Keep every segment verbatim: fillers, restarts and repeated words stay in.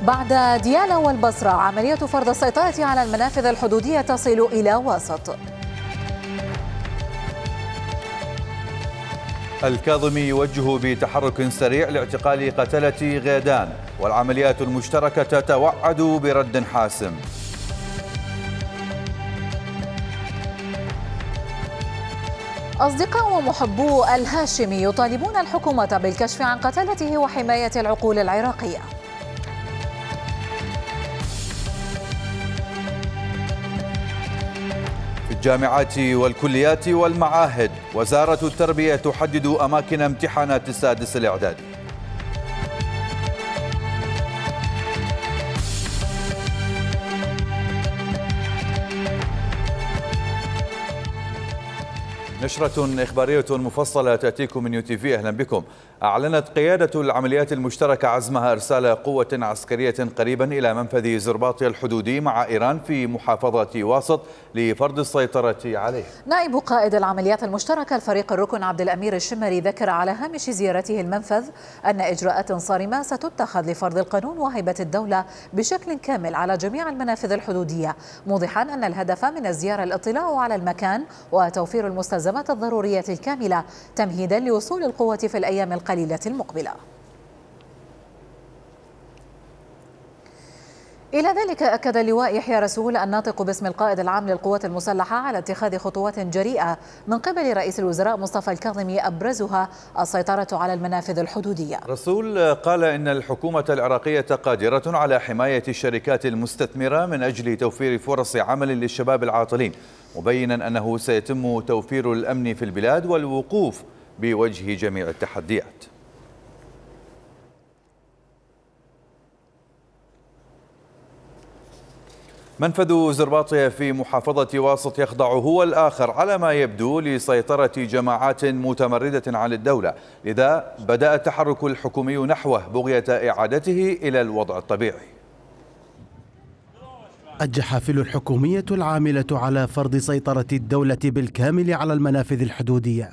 بعد ديالى والبصرة، عملية فرض السيطرة على المنافذ الحدودية تصل إلى واسط. الكاظمي يوجه بتحرك سريع لاعتقال قتلة غيدان، والعمليات المشتركة تتوعد برد حاسم. أصدقاء ومحبو الهاشمي يطالبون الحكومة بالكشف عن قتلته وحماية العقول العراقية. في الجامعات والكليات والمعاهد، وزارة التربية تحدد أماكن امتحانات السادس الإعدادي. نشرة إخبارية مفصلة تأتيكم من يو تي في. أهلا بكم. أعلنت قيادة العمليات المشتركة عزمها إرسال قوة عسكرية قريبا إلى منفذ زرباطيا الحدودي مع إيران في محافظة واسط لفرض السيطرة عليه. نائب قائد العمليات المشتركة الفريق الركن عبد الأمير الشمري ذكر على هامش زيارته المنفذ أن إجراءات صارمة ستتخذ لفرض القانون وهيبة الدولة بشكل كامل على جميع المنافذ الحدودية، موضحا أن الهدف من الزيارة الاطلاع على المكان وتوفير المستلزمات الضرورية الكاملة تمهيدا لوصول القوة في الأيام القليلة المقبلة. إلى ذلك أكد اللواء يحيى رسول الناطق باسم القائد العام للقوات المسلحة على اتخاذ خطوات جريئة من قبل رئيس الوزراء مصطفى الكاظمي أبرزها السيطرة على المنافذ الحدودية. رسول قال إن الحكومة العراقية قادرة على حماية الشركات المستثمرة من أجل توفير فرص عمل للشباب العاطلين، مبينا أنه سيتم توفير الأمن في البلاد والوقوف بوجه جميع التحديات. منفذ زرباطيا في محافظة واسط يخضع هو الآخر على ما يبدو لسيطرة جماعات متمردة عن الدولة، لذا بدأ التحرك الحكومي نحوه بغية إعادته إلى الوضع الطبيعي. الجحافل الحكومية العاملة على فرض سيطرة الدولة بالكامل على المنافذ الحدودية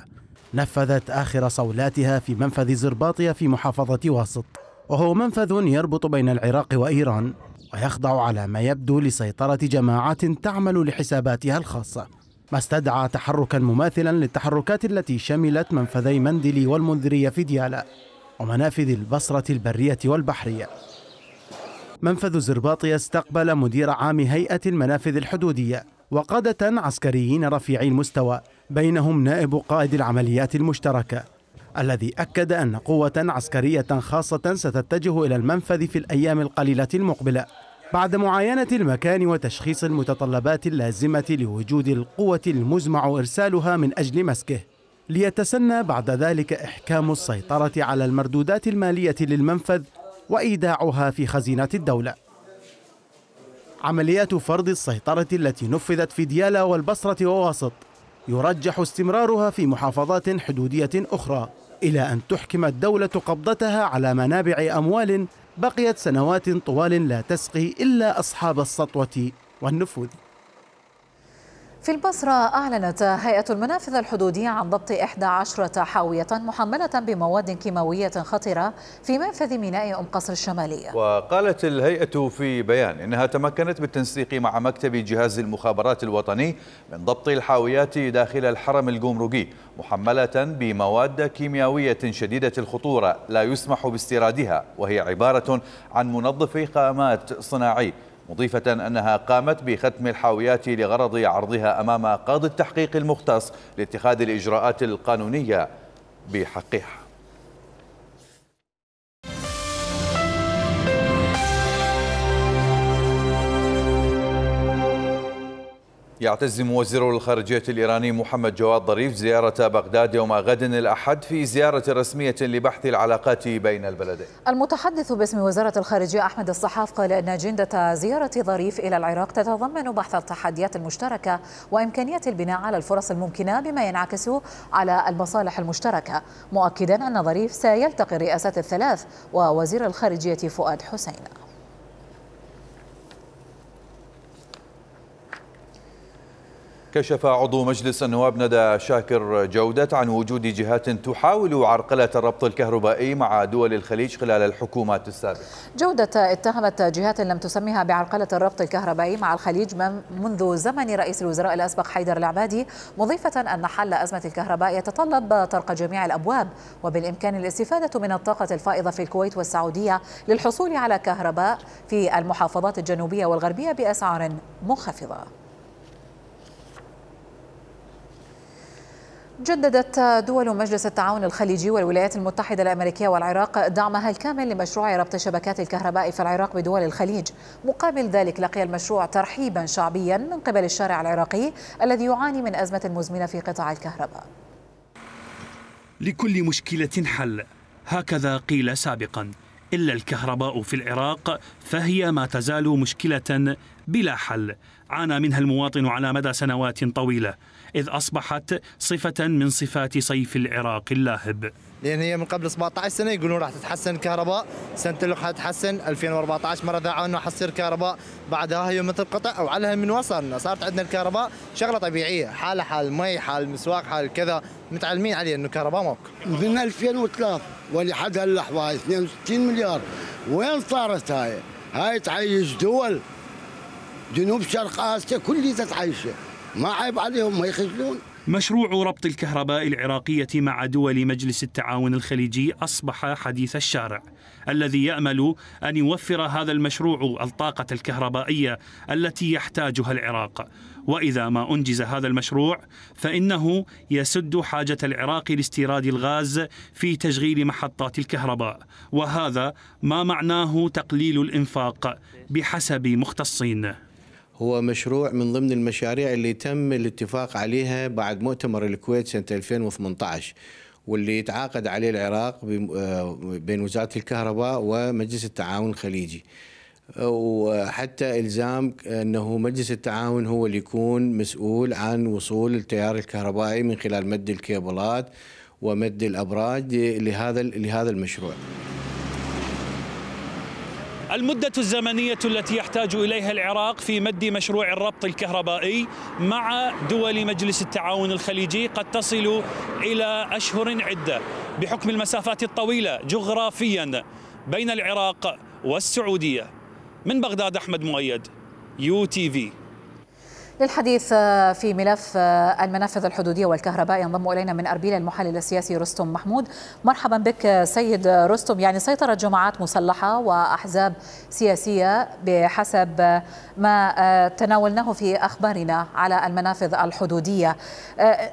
نفذت آخر صولاتها في منفذ زرباطيا في محافظة واسط، وهو منفذ يربط بين العراق وإيران، ويخضع على ما يبدو لسيطرة جماعات تعمل لحساباتها الخاصة، ما استدعى تحركا مماثلا للتحركات التي شملت منفذي مندلي والمنذرية في ديالى ومنافذ البصرة البرية والبحرية. منفذ زرباطيا استقبل مدير عام هيئة المنافذ الحدودية وقادة عسكريين رفيعي المستوى، بينهم نائب قائد العمليات المشتركة، الذي أكد أن قوة عسكرية خاصة ستتجه إلى المنفذ في الأيام القليلة المقبلة بعد معاينة المكان وتشخيص المتطلبات اللازمة لوجود القوة المزمع إرسالها من أجل مسكه، ليتسنى بعد ذلك إحكام السيطرة على المردودات المالية للمنفذ وإيداعها في خزينة الدولة. عمليات فرض السيطرة التي نفذت في ديالى والبصرة وواسط يرجح استمرارها في محافظات حدودية أخرى إلى أن تحكم الدولة قبضتها على منابع أموال بقيت سنوات طوال لا تسقي إلا أصحاب السطوة والنفوذ. في البصرة أعلنت هيئة المنافذ الحدودية عن ضبط إحدى عشرة حاوية محملة بمواد كيماوية خطرة في منفذ ميناء أم قصر الشمالية. وقالت الهيئة في بيان إنها تمكنت بالتنسيق مع مكتب جهاز المخابرات الوطني من ضبط الحاويات داخل الحرم الجمركي محملة بمواد كيميائية شديدة الخطورة لا يسمح باستيرادها، وهي عبارة عن منظف خامات صناعي، مضيفة أنها قامت بختم الحاويات لغرض عرضها أمام قاضي التحقيق المختص لاتخاذ الإجراءات القانونية بحقها. يعتزم وزير الخارجية الإيراني محمد جواد ظريف زيارة بغداد يوم غد الأحد في زيارة رسمية لبحث العلاقات بين البلدين. المتحدث باسم وزارة الخارجية أحمد الصحاف قال أن أجندة زيارة ظريف إلى العراق تتضمن بحث التحديات المشتركة وإمكانية البناء على الفرص الممكنة بما ينعكس على المصالح المشتركة، مؤكدا أن ظريف سيلتقي الرئاسات الثلاث ووزير الخارجية فؤاد حسين. كشف عضو مجلس النواب ندى شاكر جودة عن وجود جهات تحاول عرقلة الربط الكهربائي مع دول الخليج خلال الحكومات السابقة. جودة اتهمت جهات لم تسميها بعرقلة الربط الكهربائي مع الخليج منذ زمن رئيس الوزراء الأسبق حيدر العبادي، مضيفة أن حل أزمة الكهرباء يتطلب طرق جميع الأبواب، وبالإمكان الاستفادة من الطاقة الفائضة في الكويت والسعودية للحصول على كهرباء في المحافظات الجنوبية والغربية بأسعار منخفضة. جددت دول مجلس التعاون الخليجي والولايات المتحدة الأمريكية والعراق دعمها الكامل لمشروع ربط شبكات الكهرباء في العراق بدول الخليج. مقابل ذلك لقي المشروع ترحيبا شعبيا من قبل الشارع العراقي الذي يعاني من أزمة مزمنة في قطاع الكهرباء. لكل مشكلة حل، هكذا قيل سابقا، إلا الكهرباء في العراق فهي ما تزال مشكلة بلا حل عانى منها المواطن على مدى سنوات طويلة، إذ أصبحت صفة من صفات صيف العراق اللاهب. لأن هي من قبل سبعة عشر سنة يقولون راح تتحسن الكهرباء، سنة اللي راح تتحسن ألفين وأربعة عشر مرة ذاعوا انه حتصير كهرباء، بعدها هي مثل قطع وعلى من وصلنا صارت عندنا الكهرباء شغلة طبيعية، حالة حال مي، حال مسواق، حال كذا، متعلمين عليه انه كهرباء ماكو. من ألفين وثلاثة ولحد هاللحظة اثنين وستين مليار، وين صارت هاي؟ هاي تعيش دول جنوب شرق آسيا كلها تتعيشه، ما عيب عليهم ما يخجلون. مشروع ربط الكهرباء العراقية مع دول مجلس التعاون الخليجي أصبح حديث الشارع، الذي يأمل أن يوفر هذا المشروع الطاقة الكهربائية التي يحتاجها العراق. وإذا ما أنجز هذا المشروع فإنه يسد حاجة العراق لاستيراد الغاز في تشغيل محطات الكهرباء، وهذا ما معناه تقليل الإنفاق بحسب مختصين. هو مشروع من ضمن المشاريع اللي تم الاتفاق عليها بعد مؤتمر الكويت سنة ألفين وثمانية عشر، واللي يتعاقد عليه العراق بين وزارة الكهرباء ومجلس التعاون الخليجي، وحتى إلزام أنه مجلس التعاون هو اللي يكون مسؤول عن وصول التيار الكهربائي من خلال مد الكيبلات ومد الأبراج لهذا لهذا المشروع. المدة الزمنية التي يحتاج إليها العراق في مد مشروع الربط الكهربائي مع دول مجلس التعاون الخليجي قد تصل إلى أشهر عدة بحكم المسافات الطويلة جغرافيا بين العراق والسعودية. من بغداد أحمد مؤيد، يو تي في. للحديث في ملف المنافذ الحدودية والكهرباء ينضم إلينا من أربيل المحلل السياسي رستم محمود. مرحبا بك سيد رستم. يعني سيطرت جماعات مسلحة وأحزاب سياسية بحسب ما تناولناه في أخبارنا على المنافذ الحدودية.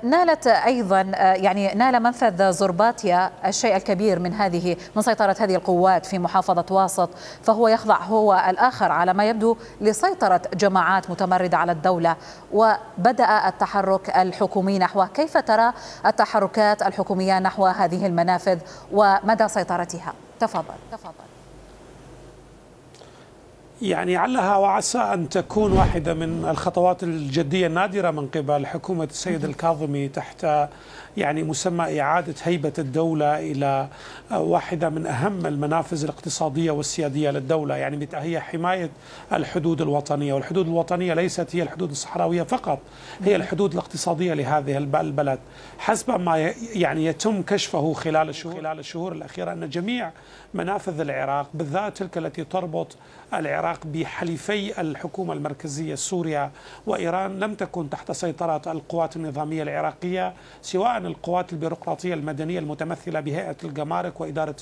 نالت أيضا يعني نال منفذ زرباطيا الشيء الكبير من هذه من سيطرة هذه القوات في محافظة واسط، فهو يخضع هو الآخر على ما يبدو لسيطرة جماعات متمردة على الدولة، وبدأ التحرك الحكومي نحوه. كيف ترى التحركات الحكومية نحو هذه المنافذ ومدى سيطرتها؟ تفضل تفضل. يعني علها وعسى أن تكون واحدة من الخطوات الجدية النادرة من قبل حكومة السيد الكاظمي تحت يعني مسمى إعادة هيبة الدولة إلى واحدة من أهم المنافذ الاقتصادية والسيادية للدولة. يعني هي حماية الحدود الوطنية، والحدود الوطنية ليست هي الحدود الصحراوية فقط، هي الحدود الاقتصادية لهذه البلد. حسب ما يعني يتم كشفه خلال الشهور خلال الشهور الأخيرة أن جميع منافذ العراق بالذات تلك التي تربط العراق بحليفي الحكومة المركزية سوريا وإيران لم تكن تحت سيطرة القوات النظامية العراقية، سواء القوات البيروقراطية المدنية المتمثلة بهيئة الجمارك وإدارة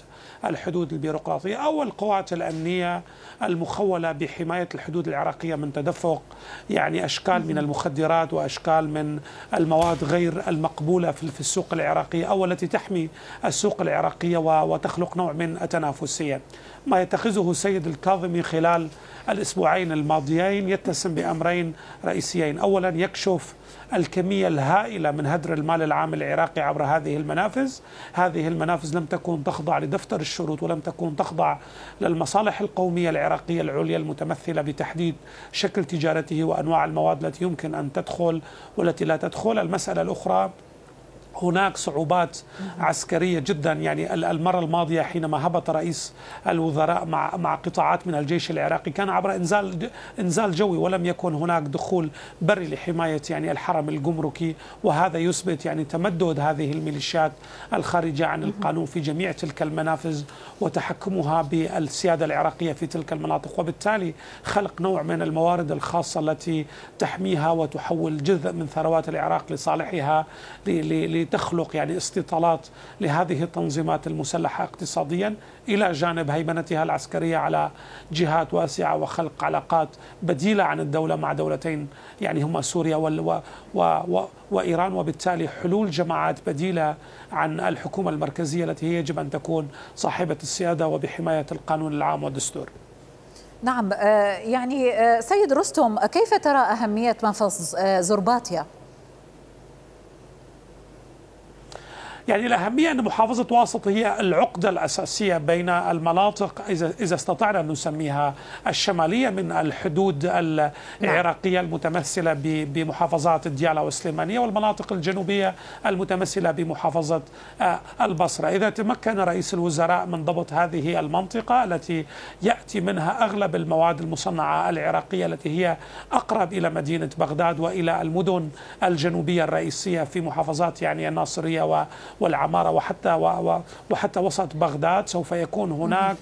الحدود البيروقراطية، أو القوات الأمنية المخولة بحماية الحدود العراقية من تدفق يعني أشكال من المخدرات وأشكال من المواد غير المقبولة في السوق العراقية أو التي تحمي السوق العراقية وتخلق نوع من التنافسية. ما يتخذه السيد الكاظمي خلال الأسبوعين الماضيين يتسم بأمرين رئيسيين. أولا يكشف الكمية الهائلة من هدر المال العام العراقي عبر هذه المنافذ. هذه المنافذ لم تكن تخضع لدفتر الشروط ولم تكن تخضع للمصالح القومية العراقية العليا المتمثلة بتحديد شكل تجارته وأنواع المواد التي يمكن أن تدخل والتي لا تدخل. المسألة الأخرى هناك صعوبات عسكرية جدا. يعني المرة الماضية حينما هبط رئيس الوزراء مع مع قطاعات من الجيش العراقي كان عبر انزال انزال جوي، ولم يكن هناك دخول بري لحماية يعني الحرم الجمركي، وهذا يثبت يعني تمدد هذه الميليشيات الخارجة عن القانون في جميع تلك المنافذ وتحكمها بالسيادة العراقية في تلك المناطق، وبالتالي خلق نوع من الموارد الخاصة التي تحميها وتحول جزء من ثروات العراق لصالحها لتخلق يعني استيطالات لهذه التنظيمات المسلحة اقتصاديا، إلى جانب هيمنتها العسكرية على جهات واسعة وخلق علاقات بديلة عن الدولة مع دولتين يعني هما سوريا و و و وإيران، وبالتالي حلول جماعات بديلة عن الحكومة المركزية التي هي يجب أن تكون صاحبة السيادة وبحماية القانون العام والدستور. نعم، يعني سيد رستم، كيف ترى أهمية منفذ زرباطيا؟ يعني الأهمية أن محافظة واسط هي العقدة الأساسية بين المناطق إذا إذا استطعنا أن نسميها الشمالية من الحدود العراقية المتمثلة بمحافظات الديالى والسليمانية، والمناطق الجنوبية المتمثلة بمحافظة البصرة. إذا تمكن رئيس الوزراء من ضبط هذه المنطقة التي يأتي منها أغلب المواد المصنعة العراقية التي هي أقرب إلى مدينة بغداد وإلى المدن الجنوبية الرئيسية في محافظات يعني الناصرية و والعمارة وحتى وحتى وسط بغداد، سوف يكون هناك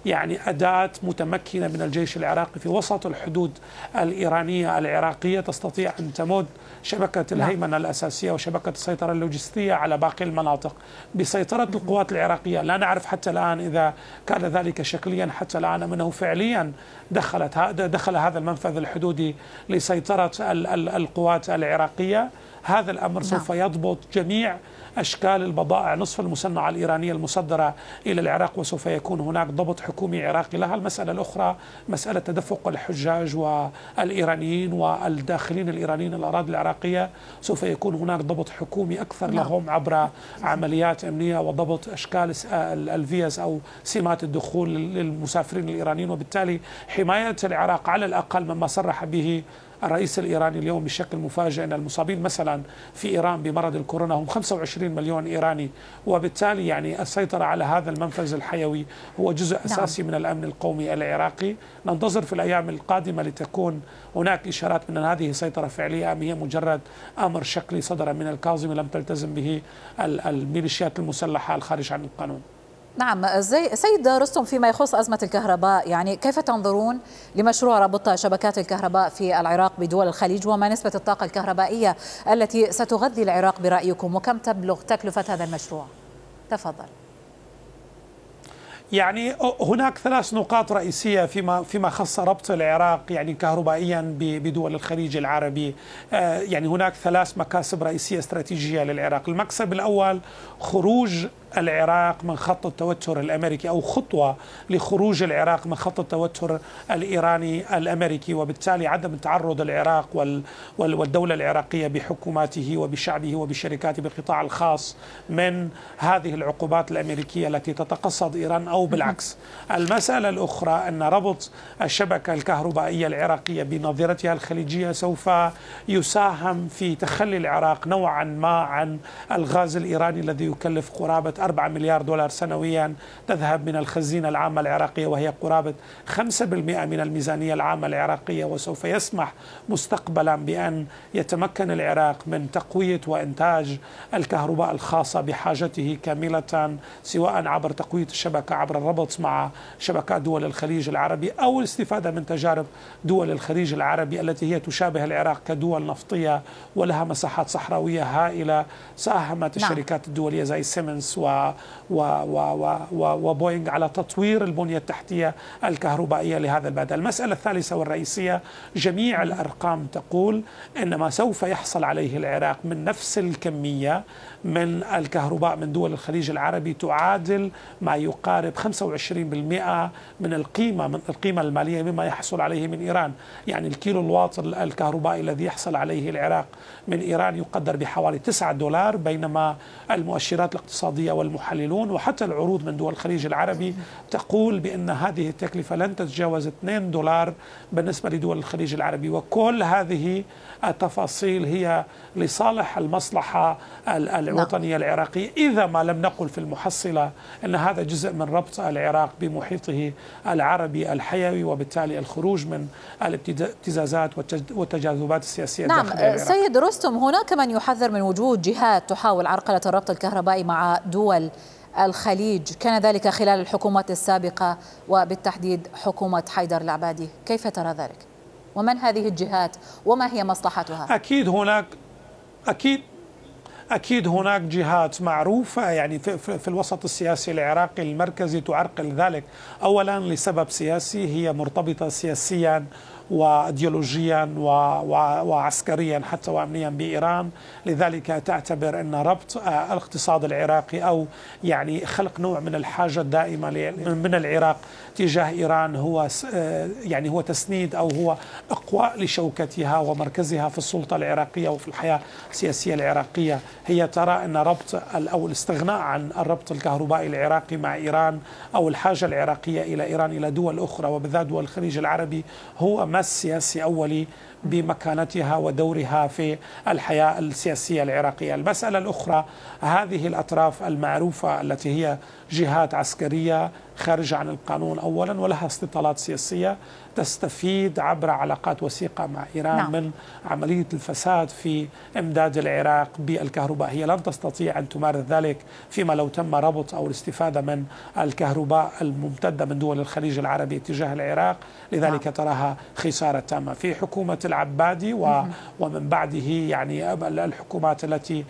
يعني أداة متمكنة من الجيش العراقي في وسط الحدود الإيرانية العراقية تستطيع أن تمد شبكة الهيمنة الأساسية وشبكة السيطرة اللوجستية على باقي المناطق بسيطرة القوات العراقية. لا نعرف حتى الآن إذا كان ذلك شكليا حتى الآن أم أنه فعليا دخلت دخل هذا المنفذ الحدودي لسيطرة القوات العراقية. هذا الأمر سوف يضبط جميع أشكال البضائع نصف المصنعة الإيرانية المصدرة إلى العراق، وسوف يكون هناك ضبط حكومي عراقي لها. المسألة الأخرى مسألة تدفق الحجاج والإيرانيين والداخلين الإيرانيين الأراضي العراقية، سوف يكون هناك ضبط حكومي أكثر لهم عبر عمليات أمنية وضبط أشكال الفيز أو سمات الدخول للمسافرين الإيرانيين، وبالتالي حماية العراق على الأقل مما صرح به الرئيس الإيراني اليوم بشكل مفاجئ أن المصابين مثلا في إيران بمرض الكورونا هم خمسة وعشرين مليون إيراني، وبالتالي يعني السيطرة على هذا المنفذ الحيوي هو جزء أساسي من الأمن القومي العراقي. ننتظر في الأيام القادمة لتكون هناك إشارات من أن هذه سيطرة فعلية أم هي مجرد أمر شكلي صدر من الكاظمي لم تلتزم به الميليشيات المسلحة الخارج عن القانون. نعم، زي سيد رستم، فيما يخص أزمة الكهرباء، يعني كيف تنظرون لمشروع ربط شبكات الكهرباء في العراق بدول الخليج، وما نسبة الطاقة الكهربائية التي ستغذي العراق برأيكم، وكم تبلغ تكلفة هذا المشروع؟ تفضل. يعني هناك ثلاث نقاط رئيسية فيما فيما خص ربط العراق يعني كهربائيا بدول الخليج العربي. يعني هناك ثلاث مكاسب رئيسية استراتيجية للعراق. المكسب الأول خروج العراق من خط التوتر الأمريكي أو خطوة لخروج العراق من خط التوتر الإيراني الأمريكي، وبالتالي عدم تعرض العراق والدولة العراقية بحكوماته وبشعبه وبشركاته بالقطاع الخاص من هذه العقوبات الأمريكية التي تتقصد إيران أو بالعكس. المسألة الأخرى أن ربط الشبكة الكهربائية العراقية بنظيرتها الخليجية سوف يساهم في تخلي العراق نوعا ما عن الغاز الإيراني الذي يكلف قرابة أربعة مليار دولار سنويا تذهب من الخزينة العامة العراقية، وهي قرابة خمسة بالمئة من الميزانية العامة العراقية، وسوف يسمح مستقبلا بأن يتمكن العراق من تقوية وإنتاج الكهرباء الخاصة بحاجته كاملة، سواء عبر تقوية الشبكة عبر الربط مع شبكات دول الخليج العربي أو الاستفادة من تجارب دول الخليج العربي التي هي تشابه العراق كدول نفطية ولها مساحات صحراوية هائلة. ساهمت الشركات الدولية زي سيمنز و و و و وبوينغ على تطوير البنية التحتية الكهربائية لهذا البلد. المسألة الثالثة والرئيسية، جميع الأرقام تقول أن ما سوف يحصل عليه العراق من نفس الكمية من الكهرباء من دول الخليج العربي تعادل ما يقارب خمسة وعشرين بالمئة من القيمة من القيمة المالية مما يحصل عليه من إيران. يعني الكيلو الواط الكهربائي الذي يحصل عليه العراق من إيران يقدر بحوالي تسعة دولار، بينما المؤشرات الاقتصادية والمحللون وحتى العروض من دول الخليج العربي تقول بأن هذه التكلفة لن تتجاوز اثنين دولار بالنسبة لدول الخليج العربي، وكل هذه التفاصيل هي لصالح المصلحة الوطنية العراقية، إذا ما لم نقل في المحصلة أن هذا جزء من ربط العراق بمحيطه العربي الحيوي، وبالتالي الخروج من الابتزازات والتجاذبات السياسية نعم الداخلية العراقية. سيد رستم، هناك من يحذر من وجود جهات تحاول عرقلة الربط الكهربائي مع دول الخليج، كان ذلك خلال الحكومات السابقة وبالتحديد حكومة حيدر العبادي، كيف ترى ذلك؟ ومن هذه الجهات وما هي مصلحتها؟ أكيد هناك أكيد أكيد هناك جهات معروفة يعني في, في الوسط السياسي العراقي المركزي تعرقل ذلك، أولا لسبب سياسي، هي مرتبطة سياسيا وأيديولوجيا وعسكريا حتى وأمنيا بإيران، لذلك تعتبر أن ربط الاقتصاد العراقي أو يعني خلق نوع من الحاجة الدائمة من العراق تجاه إيران هو يعني هو تسنيد أو هو إقواء لشوكتها ومركزها في السلطة العراقية وفي الحياة السياسية العراقية. هي ترى أن ربط أو الاستغناء عن الربط الكهربائي العراقي مع إيران أو الحاجة العراقية إلى إيران إلى دول أخرى وبالذات دول الخليج العربي هو مس سياسي أولي بمكانتها ودورها في الحياة السياسية العراقية. المسألة الأخرى، هذه الأطراف المعروفة التي هي جهات عسكرية خارجة عن القانون أولا ولها استطالات سياسية تستفيد عبر علاقات وثيقة مع إيران نعم. من عملية الفساد في إمداد العراق بالكهرباء. هي لن تستطيع أن تمارس ذلك فيما لو تم ربط أو الاستفادة من الكهرباء الممتدة من دول الخليج العربي تجاه العراق، لذلك نعم. تراها خسارة تامة. في حكومة العبادي ومن بعده يعني الحكومات التي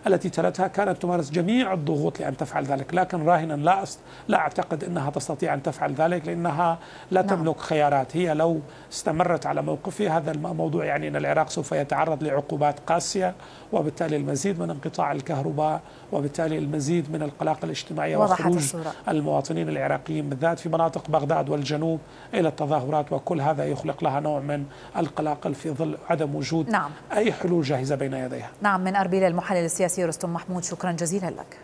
التي تلتها كانت تمارس جميع الضغوط لأن تفعل ذلك، لكن راهنا لا لا أعتقد أنها تستطيع أن تفعل ذلك لأنها لا نعم. تملك خيارات. هي لو استمرت على موقفها هذا الموضوع يعني أن العراق سوف يتعرض لعقوبات قاسية وبالتالي المزيد من انقطاع الكهرباء وبالتالي المزيد من القلاقل الاجتماعية وخروج الصورة. المواطنين العراقيين بالذات في مناطق بغداد والجنوب إلى التظاهرات، وكل هذا يخلق لها نوع من القلاقل في ظل عدم وجود نعم. أي حلول جاهزة بين يديها. نعم، من أربيل المحلل السياسي رستم محمود، شكرا جزيلا لك.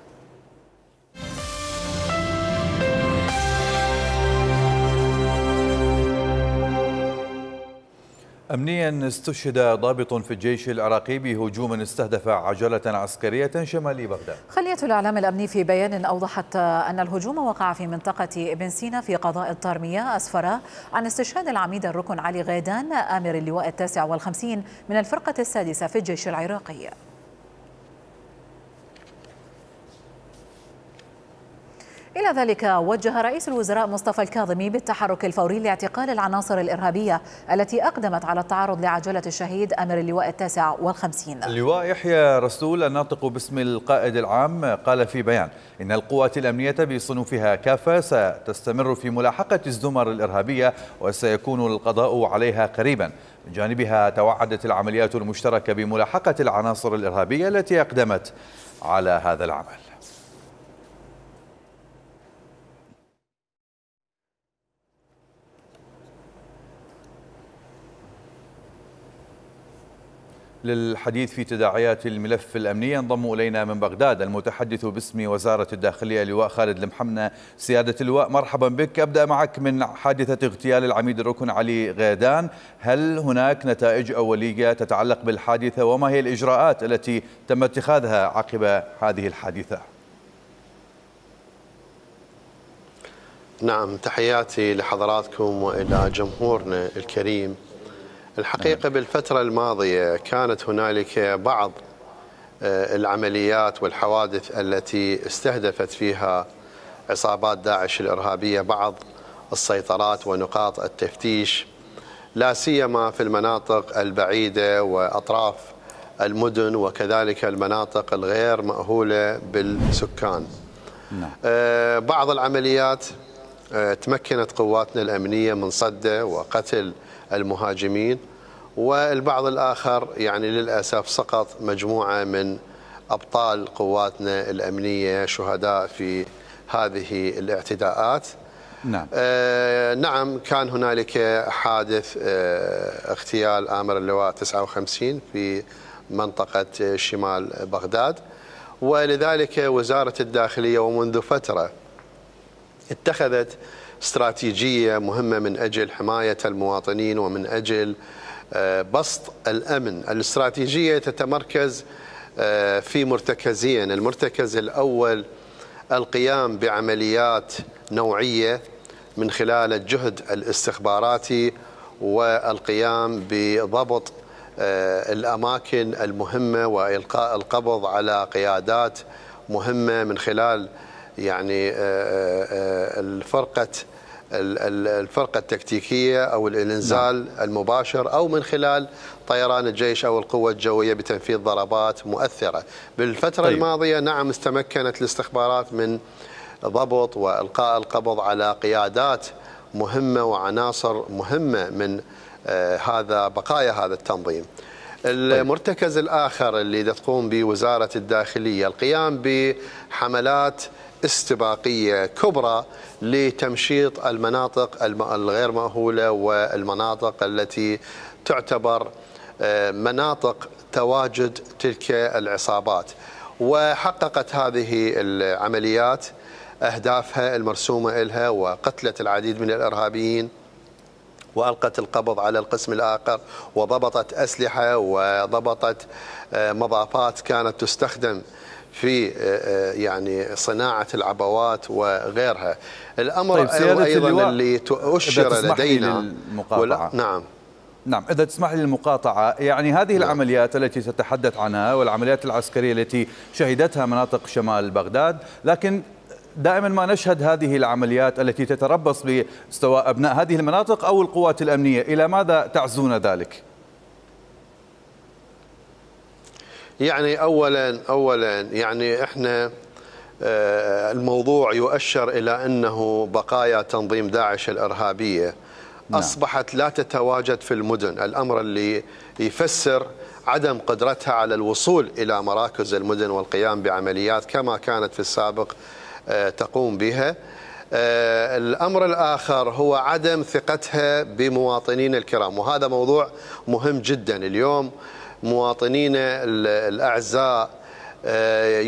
أمنيا، استشهد ضابط في الجيش العراقي بهجوم استهدف عجلة عسكرية شمالي بغداد. خلية الإعلام الأمني في بيان أوضحت أن الهجوم وقع في منطقة ابن سينا في قضاء الطارمية، أسفر عن استشهاد العميد الركن علي غيدان آمر اللواء التاسع والخمسين من الفرقة السادسة في الجيش العراقي. إلى ذلك وجه رئيس الوزراء مصطفى الكاظمي بالتحرك الفوري لاعتقال العناصر الإرهابية التي أقدمت على التعرض لعجلة الشهيد آمر اللواء التاسع والخمسين. اللواء يحيى رسول الناطق باسم القائد العام قال في بيان إن القوات الأمنية بصنوفها كافة ستستمر في ملاحقة الزمر الإرهابية وسيكون القضاء عليها قريبا. من جانبها توعدت العمليات المشتركة بملاحقة العناصر الإرهابية التي أقدمت على هذا العمل. للحديث في تداعيات الملف الأمني ينضم إلينا من بغداد المتحدث باسم وزارة الداخلية اللواء خالد المحمنة. سيادة اللواء، مرحبا بك. أبدأ معك من حادثة اغتيال العميد الركن علي غيدان، هل هناك نتائج أولية تتعلق بالحادثة وما هي الإجراءات التي تم اتخاذها عقب هذه الحادثة؟ نعم، تحياتي لحضراتكم وإلى جمهورنا الكريم. الحقيقة بالفترة الماضية كانت هنالك بعض العمليات والحوادث التي استهدفت فيها عصابات داعش الإرهابية بعض السيطرات ونقاط التفتيش، لا سيما في المناطق البعيدة وأطراف المدن وكذلك المناطق الغير مأهولة بالسكان. نعم. بعض العمليات تمكنت قواتنا الأمنية من صده وقتل المهاجمين، والبعض الآخر يعني للأسف سقط مجموعة من أبطال قواتنا الأمنية شهداء في هذه الاعتداءات. نعم. آه نعم، كان هنالك حادث آه اغتيال آمر اللواء تسعة وخمسين في منطقة شمال بغداد، ولذلك وزارة الداخلية ومنذ فترة اتخذت استراتيجية مهمة من أجل حماية المواطنين ومن أجل بسط الأمن. الاستراتيجية تتمركز في مرتكزين. المرتكز الأول القيام بعمليات نوعية من خلال الجهد الاستخباراتي والقيام بضبط الأماكن المهمة وإلقاء القبض على قيادات مهمة من خلال يعني الفرقة الفرقة التكتيكية أو الإنزال المباشر أو من خلال طيران الجيش أو القوة الجوية بتنفيذ ضربات مؤثرة. بالفترة طيب. الماضية نعم استمكنت الاستخبارات من ضبط وإلقاء القبض على قيادات مهمة وعناصر مهمة من آه هذا بقايا هذا التنظيم. المرتكز الآخر اللي تقوم به وزارة الداخلية القيام بحملات استباقية كبرى لتمشيط المناطق الغير مأهولة والمناطق التي تعتبر مناطق تواجد تلك العصابات. وحققت هذه العمليات أهدافها المرسومة لها وقتلت العديد من الإرهابيين وألقت القبض على القسم الآخر وضبطت أسلحة وضبطت مضافات كانت تستخدم في يعني صناعة العبوات وغيرها. الأمر طيب أيضا اللي أشر لدينا للمقاطعة. نعم نعم إذا تسمح لي المقاطعة، يعني هذه نعم. العمليات التي تتحدث عنها والعمليات العسكرية التي شهدتها مناطق شمال بغداد، لكن دائما ما نشهد هذه العمليات التي تتربص بسواء أبناء هذه المناطق أو القوات الأمنية، إلى ماذا تعزون ذلك؟ يعني أولا أولا يعني إحنا الموضوع يؤشر إلى أنه بقايا تنظيم داعش الإرهابية نعم. أصبحت لا تتواجد في المدن، الأمر اللي يفسر عدم قدرتها على الوصول إلى مراكز المدن والقيام بعمليات كما كانت في السابق تقوم بها. الأمر الآخر هو عدم ثقتها بمواطنين الكرام، وهذا موضوع مهم جدا. اليوم مواطنينا الأعزاء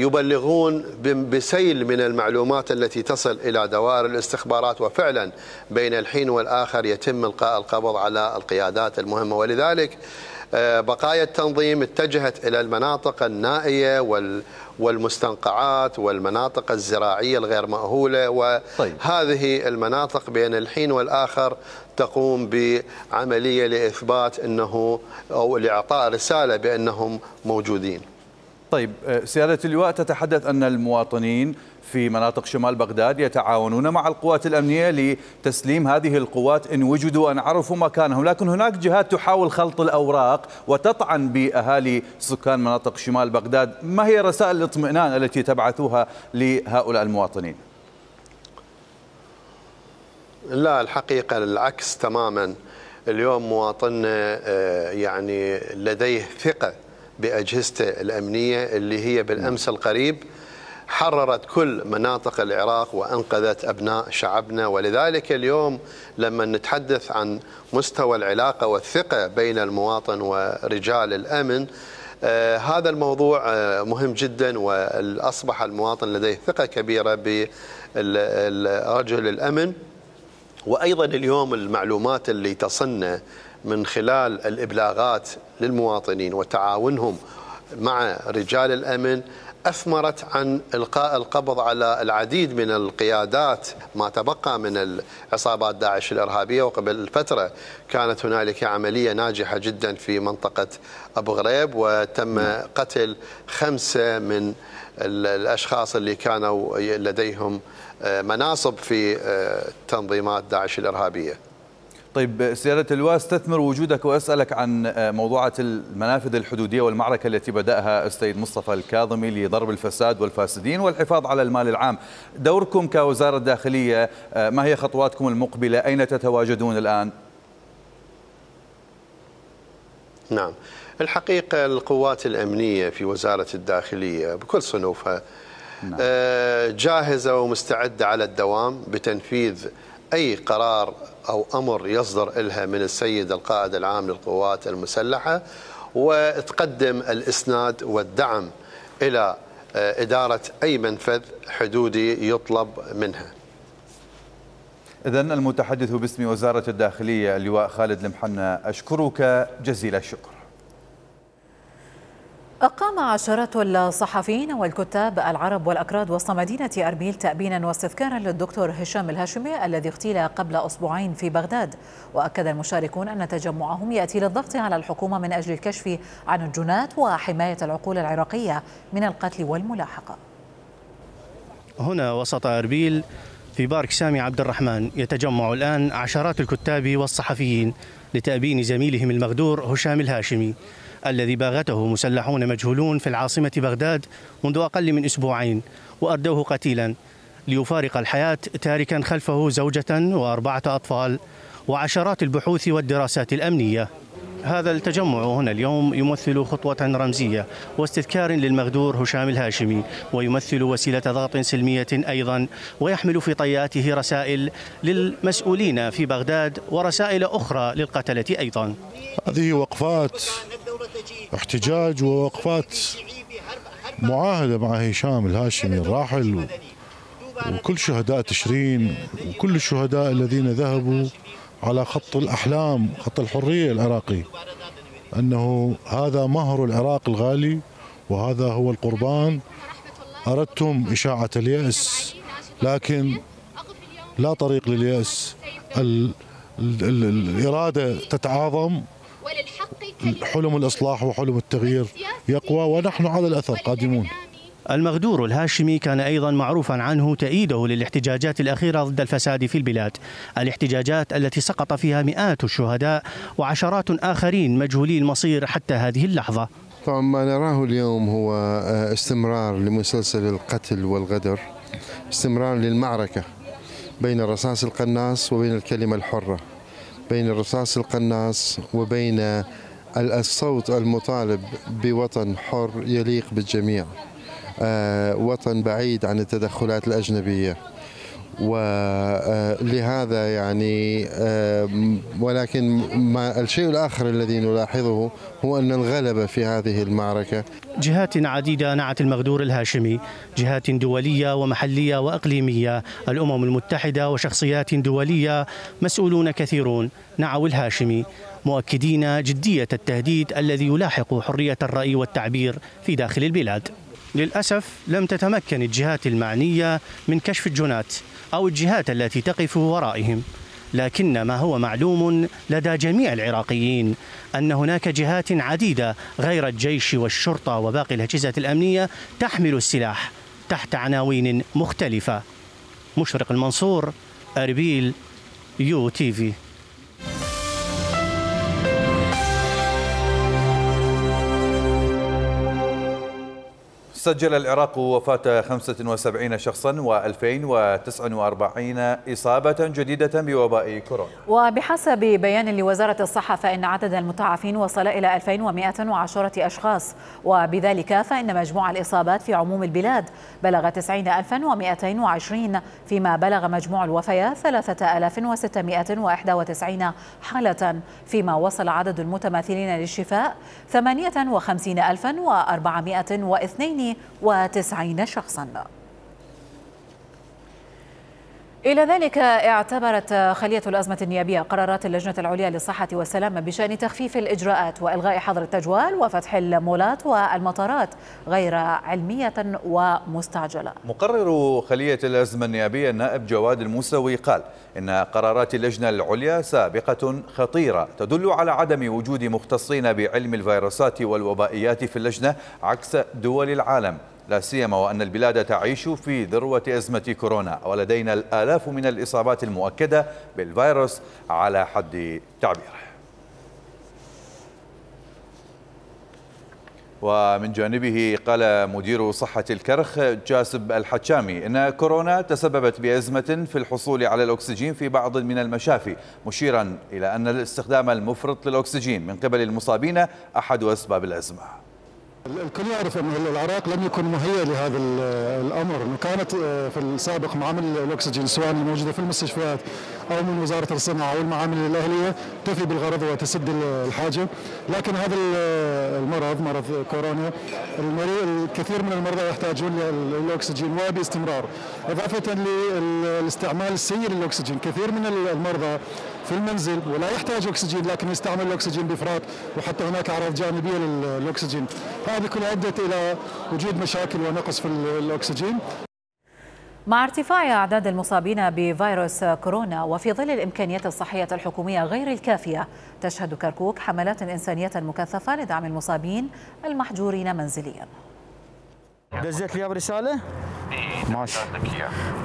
يبلغون بسيل من المعلومات التي تصل إلى دوائر الاستخبارات، وفعلا بين الحين والآخر يتم إلقاء القبض على القيادات المهمة. ولذلك بقايا التنظيم اتجهت إلى المناطق النائية والمستنقعات والمناطق الزراعية الغير مأهولة، وهذه المناطق بين الحين والآخر تقوم بعملية لإثبات أنه أو لإعطاء رسالة بأنهم موجودين. طيب سيادة اللواء، تتحدث أن المواطنين في مناطق شمال بغداد يتعاونون مع القوات الأمنية لتسليم هذه القوات إن وجدوا أن عرفوا مكانهم، لكن هناك جهات تحاول خلط الأوراق وتطعن بأهالي سكان مناطق شمال بغداد. ما هي رسائل الاطمئنان التي تبعثوها لهؤلاء المواطنين؟ لا، الحقيقة العكس تماما. اليوم مواطننا يعني لديه ثقة بأجهزته الأمنية اللي هي بالأمس القريب حررت كل مناطق العراق وأنقذت أبناء شعبنا. ولذلك اليوم لما نتحدث عن مستوى العلاقة والثقة بين المواطن ورجال الأمن، آه هذا الموضوع آه مهم جدا، وأصبح المواطن لديه ثقة كبيرة برجل الأمن. وأيضا اليوم المعلومات اللي تصلنا من خلال الإبلاغات للمواطنين وتعاونهم مع رجال الأمن أثمرت عن إلقاء القبض على العديد من القيادات ما تبقى من عصابات داعش الإرهابية. وقبل فترة كانت هنالك عملية ناجحة جدا في منطقة أبو غريب وتم قتل خمسة من الأشخاص اللي كانوا لديهم مناصب في تنظيمات داعش الإرهابية. طيب سيادة اللواء، استثمر وجودك وأسألك عن موضوعة المنافذ الحدودية والمعركة التي بدأها السيد مصطفى الكاظمي لضرب الفساد والفاسدين والحفاظ على المال العام. دوركم كوزارة داخلية، ما هي خطواتكم المقبلة؟ أين تتواجدون الآن؟ نعم، الحقيقة القوات الأمنية في وزارة الداخلية بكل صنوفها نعم. جاهزة ومستعدة على الدوام بتنفيذ أي قرار أو أمر يصدر إلها من السيد القائد العام للقوات المسلحة، وتقدم الإسناد والدعم إلى إدارة أي منفذ حدودي يطلب منها. إذن المتحدث باسم وزارة الداخلية اللواء خالد المحنى، أشكرك جزيل الشكر. أقام عشرات الصحفيين والكتاب العرب والأكراد وسط مدينة أربيل تأبينا واستذكارا للدكتور هشام الهاشمي الذي اغتيل قبل أسبوعين في بغداد. وأكد المشاركون أن تجمعهم يأتي للضغط على الحكومة من أجل الكشف عن الجنات وحماية العقول العراقية من القتل والملاحقة. هنا وسط أربيل في بارك سامي عبد الرحمن يتجمع الآن عشرات الكتاب والصحفيين لتأبين زميلهم المغدور هشام الهاشمي الذي باغته مسلحون مجهولون في العاصمة بغداد منذ أقل من أسبوعين وأردوه قتيلا ليفارق الحياة تاركا خلفه زوجة وأربعة أطفال وعشرات البحوث والدراسات الأمنية. هذا التجمع هنا اليوم يمثل خطوة رمزية واستذكار للمغدور هشام الهاشمي، ويمثل وسيلة ضغط سلمية أيضا، ويحمل في طياته رسائل للمسؤولين في بغداد ورسائل أخرى للقتلة أيضا. هذه وقفات احتجاج ووقفات معاهدة مع هشام الهاشمي الراحل وكل شهداء تشرين وكل الشهداء الذين ذهبوا على خط الأحلام، خط الحرية العراقي، أنه هذا مهر العراق الغالي وهذا هو القربان. أردتم إشاعة اليأس، لكن لا طريق لليأس. ال ال ال الإرادة تتعاظم، حلم الإصلاح وحلم التغيير يقوى، ونحن على الأثر قادمون. المغدور الهاشمي كان أيضا معروفا عنه تأييده للاحتجاجات الأخيرة ضد الفساد في البلاد، الاحتجاجات التي سقط فيها مئات الشهداء وعشرات آخرين مجهولي المصير حتى هذه اللحظة. طبعا ما نراه اليوم هو استمرار لمسلسل القتل والغدر، استمرار للمعركة بين الرصاص القناص وبين الكلمة الحرة، بين الرصاص القناص وبين الصوت المطالب بوطن حر يليق بالجميع، وطن بعيد عن التدخلات الأجنبية. ولهذا يعني ولكن ما الشيء الآخر الذي نلاحظه هو أن الغلبة في هذه المعركة. جهات عديدة نعت المغدور الهاشمي، جهات دولية ومحلية وإقليمية، الأمم المتحدة وشخصيات دولية، مسؤولون كثيرون نعوا الهاشمي، مؤكدين جدية التهديد الذي يلاحق حرية الرأي والتعبير في داخل البلاد. للأسف لم تتمكن الجهات المعنية من كشف الجنات أو الجهات التي تقف ورائهم، لكن ما هو معلوم لدى جميع العراقيين أن هناك جهات عديدة غير الجيش والشرطة وباقي الأجهزة الأمنية تحمل السلاح تحت عناوين مختلفة. مشرق المنصور، أربيل، يو تي في. سجل العراق وفاة خمسة وسبعين شخصا وألفين وتسعة وأربعين إصابة جديدة بوباء كورونا. وبحسب بيان لوزارة الصحة فإن عدد المتعافين وصل إلى ألفين ومئة وعشرة أشخاص، وبذلك فإن مجموع الإصابات في عموم البلاد بلغ تسعين ألفا ومئتين وعشرين، فيما بلغ مجموع الوفيات ثلاثة آلاف وستمئة وواحد وتسعين حالة، فيما وصل عدد المتماثلين للشفاء ثمانية وخمسين ألفا وأربعمئة واثنين وتسعين شخصا. إلى ذلك اعتبرت خلية الأزمة النيابية قرارات اللجنة العليا للصحة والسلامة بشأن تخفيف الإجراءات وإلغاء حظر التجوال وفتح المولات والمطارات غير علمية ومستعجلة. مقرر خلية الأزمة النيابية النائب جواد الموسوي قال إن قرارات اللجنة العليا سابقة خطيرة تدل على عدم وجود مختصين بعلم الفيروسات والوبائيات في اللجنة عكس دول العالم، لا سيما وأن البلاد تعيش في ذروة أزمة كورونا ولدينا الآلاف من الإصابات المؤكدة بالفيروس على حد تعبيره. ومن جانبه قال مدير صحة الكرخ جاسب الحجامي إن كورونا تسببت بأزمة في الحصول على الأكسجين في بعض من المشافي، مشيرا إلى أن الاستخدام المفرط للأكسجين من قبل المصابين أحد أسباب الأزمة. الكل يعرف أن العراق لم يكن مهيئ لهذا الأمر، كانت في السابق معامل الأكسجين سواء الموجودة في المستشفيات أو من وزارة الصناعة أو المعامل الأهلية تفي بالغرض وتسد الحاجة. لكن هذا المرض مرض كورونا الكثير من المرضى يحتاجون للأكسجين وباستمرار، إضافة للاستعمال السيء للأكسجين. كثير من المرضى في المنزل ولا يحتاج أكسجين لكن يستعمل الأكسجين بإفراط، وحتى هناك أعراض جانبية للأكسجين. هذه كلها أدت إلى وجود مشاكل ونقص في الأكسجين. مع ارتفاع أعداد المصابين بفيروس كورونا وفي ظل الإمكانيات الصحية الحكومية غير الكافية، تشهد كركوك حملات إنسانية مكثفة لدعم المصابين المحجورين منزليا. دزيت لي برسالة؟ ماشي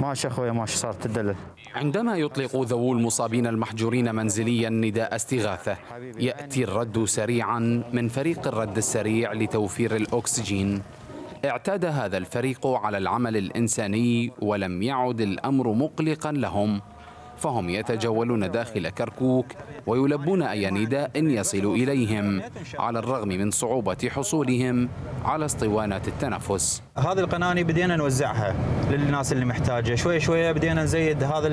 ماشي أخويا ماشي، صارت تدلل. عندما يطلق ذوو المصابين المحجورين منزليا نداء استغاثة، يأتي الرد سريعا من فريق الرد السريع لتوفير الأكسجين. اعتاد هذا الفريق على العمل الإنساني ولم يعد الأمر مقلقا لهم، فهم يتجولون داخل كركوك ويلبون أي نداء يصل إليهم على الرغم من صعوبة حصولهم على اسطوانات التنفس. هذه القناني بدينا نوزعها للناس اللي محتاجة، شوي شوي بدينا نزيد هذا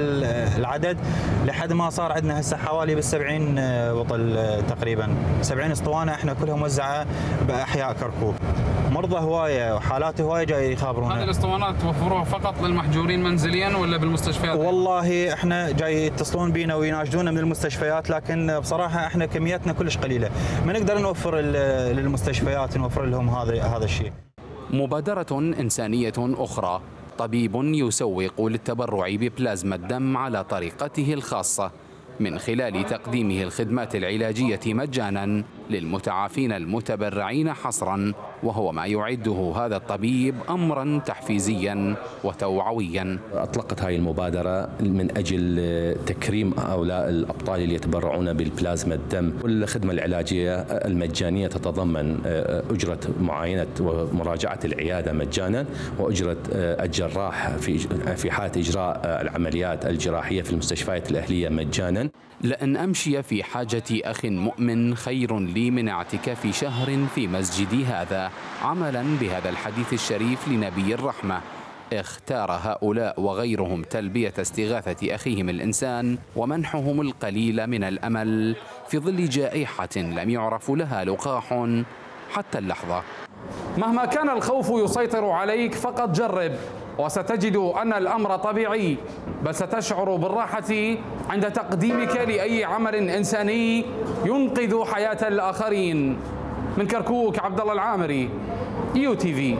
العدد لحد ما صار عندنا هسه حوالي بالسبعين بطل تقريبا، سبعين اسطوانة احنا كلها موزعة بأحياء كركوك. مرضى هواية وحالات هواية جاي يخابرونا. هذه الاسطوانات توفروها فقط للمحجورين منزليا ولا بالمستشفيات؟ والله احنا جاي يتصلون بينا ويناشدونا من المستشفيات، لكن بصراحة احنا كمياتنا كلش قليلة، ما نقدر نوفر للمستشفيات نوفر لهم هذا هذا الشيء. مبادرة إنسانية أخرى، طبيب يسوق للتبرع ببلازما الدم على طريقته الخاصة من خلال تقديمه الخدمات العلاجية مجانا للمتعافين المتبرعين حصرا، وهو ما يعده هذا الطبيب أمرا تحفيزيا وتوعويا. أطلقت هذه المبادرة من أجل تكريم هؤلاء الأبطال اللي يتبرعون بالبلازما الدم. والخدمة العلاجية المجانية تتضمن أجرة معاينة ومراجعة العيادة مجانا، وأجرة الجراح في في حالة إجراء العمليات الجراحية في المستشفيات الأهلية مجانا. لأن أمشي في حاجة أخ مؤمن خير لي من اعتكاف شهر في مسجدي هذا، عملا بهذا الحديث الشريف لنبي الرحمة. اختار هؤلاء وغيرهم تلبية استغاثة أخيهم الإنسان ومنحهم القليل من الأمل في ظل جائحة لم يعرف لها لقاح حتى اللحظة. مهما كان الخوف يسيطر عليك فقط جرب، وستجد أن الأمر طبيعي، بل ستشعر بالراحة عند تقديمك لأي عمل إنساني ينقذ حياة الآخرين. من كركوك عبد الله العامري، يو تي في.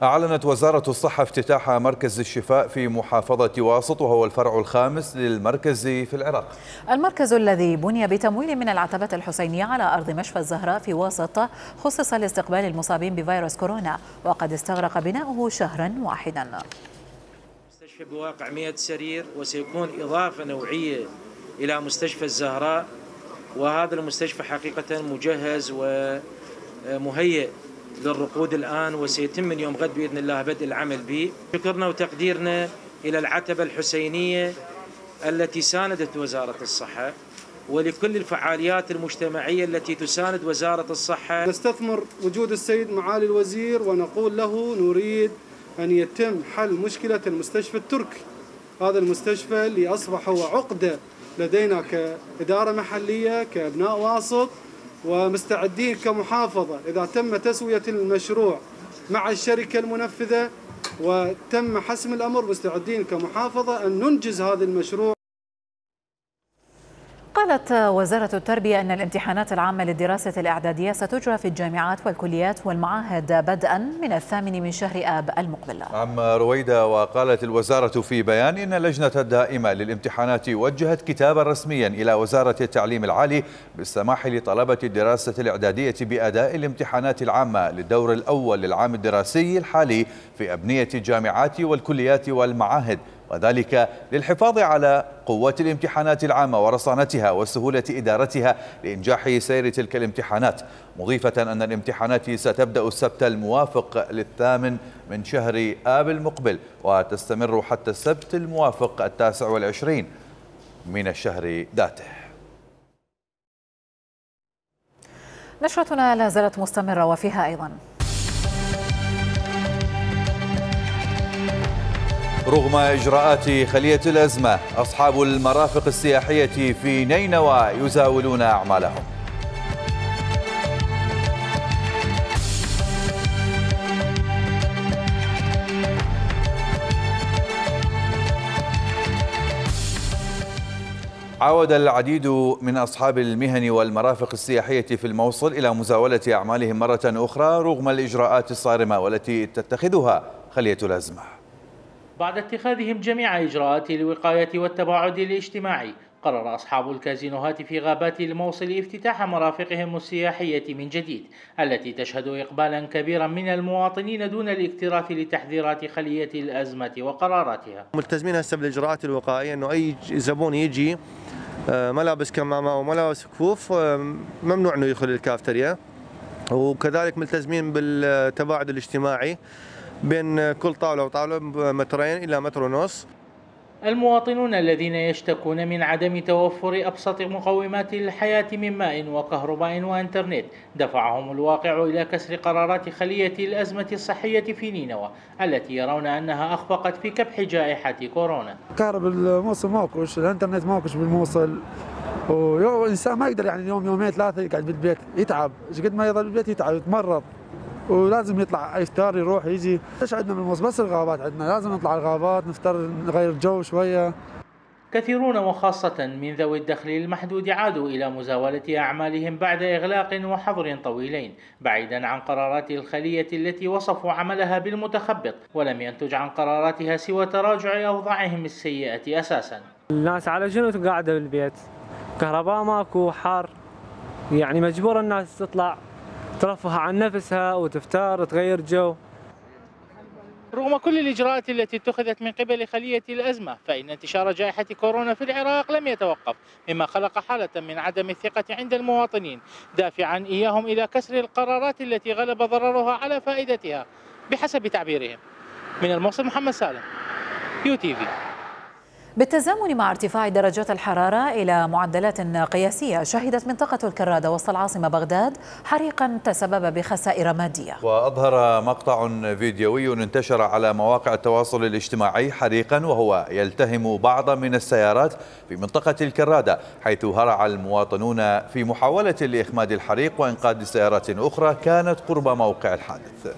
أعلنت وزارة الصحة افتتاح مركز الشفاء في محافظة واسط، وهو الفرع الخامس للمركز في العراق. المركز الذي بني بتمويل من العتبة الحسينية على أرض مشفى الزهراء في واسط خصص لاستقبال المصابين بفيروس كورونا، وقد استغرق بناؤه شهرا واحدا. مستشفى بواقع مئة سرير، وسيكون إضافة نوعية إلى مستشفى الزهراء، وهذا المستشفى حقيقة مجهز ومهيئ للرقود الآن، وسيتم من يوم غد بإذن الله بدء العمل به. شكرنا وتقديرنا إلى العتبة الحسينية التي ساندت وزارة الصحة، ولكل الفعاليات المجتمعية التي تساند وزارة الصحة. نستثمر وجود السيد معالي الوزير ونقول له نريد أن يتم حل مشكلة المستشفى التركي. هذا المستشفى اللي أصبح هو عقدة لدينا كإدارة محلية كأبناء واسط، ومستعدين كمحافظة إذا تم تسوية المشروع مع الشركة المنفذة وتم حسم الأمر، مستعدين كمحافظة أن ننجز هذا المشروع. قالت وزارة التربية أن الامتحانات العامة للدراسة الإعدادية ستجرى في الجامعات والكليات والمعاهد بدءا من الثامن من شهر آب المقبل. عم رويدة. وقالت الوزارة في بيان إن اللجنة الدائمة للامتحانات وجهت كتابا رسميا إلى وزارة التعليم العالي بالسماح لطلبة الدراسة الإعدادية بأداء الامتحانات العامة للدور الأول للعام الدراسي الحالي في أبنية الجامعات والكليات والمعاهد، وذلك للحفاظ على قوة الامتحانات العامة ورصانتها وسهولة إدارتها لإنجاح سير تلك الامتحانات، مضيفة أن الامتحانات ستبدأ السبت الموافق للثامن من شهر آب المقبل وتستمر حتى السبت الموافق التاسع والعشرين من الشهر ذاته. نشرتنا لا زالت مستمرة وفيها أيضا رغم إجراءات خلية الأزمة، أصحاب المرافق السياحية في نينوى يزاولون أعمالهم. عاود العديد من أصحاب المهن والمرافق السياحية في الموصل إلى مزاولة أعمالهم مرة أخرى رغم الإجراءات الصارمة والتي تتخذها خلية الأزمة. بعد اتخاذهم جميع إجراءات الوقاية والتباعد الاجتماعي، قرر أصحاب الكازينوهات في غابات الموصل افتتاح مرافقهم السياحية من جديد، التي تشهد إقبالا كبيرا من المواطنين دون الاكتراث لتحذيرات خلية الأزمة وقراراتها. ملتزمين هسه بالإجراءات الوقائية، أنه أي زبون يجي ملابس كمامة وملابس كفوف ممنوع أنه يدخل الكافتريا، وكذلك ملتزمين بالتباعد الاجتماعي بين كل طاولة وطاولة مترين إلى متر ونص. المواطنون الذين يشتكون من عدم توفر أبسط مقومات الحياة من ماء وكهرباء وإنترنت دفعهم الواقع إلى كسر قرارات خلية الأزمة الصحية في نينوى التي يرون أنها أخفقت في كبح جائحة كورونا. كهرباء الموصل ماكوش، الإنترنت ماكوش بالموصل، والإنسان ما يقدر يعني يوم يومين ثلاثة يقعد بالبيت، يتعب، قد ما يضل بالبيت يتعب يتمرض، ولازم يطلع يفتر يروح يجي. ايش عندنا بالموصل؟ بس الغابات عندنا، لازم نطلع الغابات نفتر نغير جو شويه. كثيرون وخاصة من ذوي الدخل المحدود عادوا إلى مزاولة أعمالهم بعد إغلاق وحظر طويلين، بعيدا عن قرارات الخلية التي وصفوا عملها بالمتخبط، ولم ينتج عن قراراتها سوى تراجع أوضاعهم السيئة أساسا. الناس على جنود قاعدة بالبيت، كهرباء ماكو، حار، يعني مجبور الناس تطلع ترفه عن نفسها وتفتر تغير جو. رغم كل الإجراءات التي اتخذت من قبل خلية الأزمة، فإن انتشار جائحة كورونا في العراق لم يتوقف، مما خلق حالة من عدم الثقة عند المواطنين، دافعا إياهم إلى كسر القرارات التي غلب ضررها على فائدتها بحسب تعبيرهم. من الموصل محمد سالم، يو تي في. بالتزامن مع ارتفاع درجات الحرارة إلى معدلات قياسية، شهدت منطقة الكرادة وسط العاصمة بغداد حريقا تسبب بخسائر مادية. وأظهر مقطع فيديوي انتشر على مواقع التواصل الاجتماعي حريقا وهو يلتهم بعض من السيارات في منطقة الكرادة، حيث هرع المواطنون في محاولة لإخماد الحريق وإنقاذ سيارات أخرى كانت قرب موقع الحادث.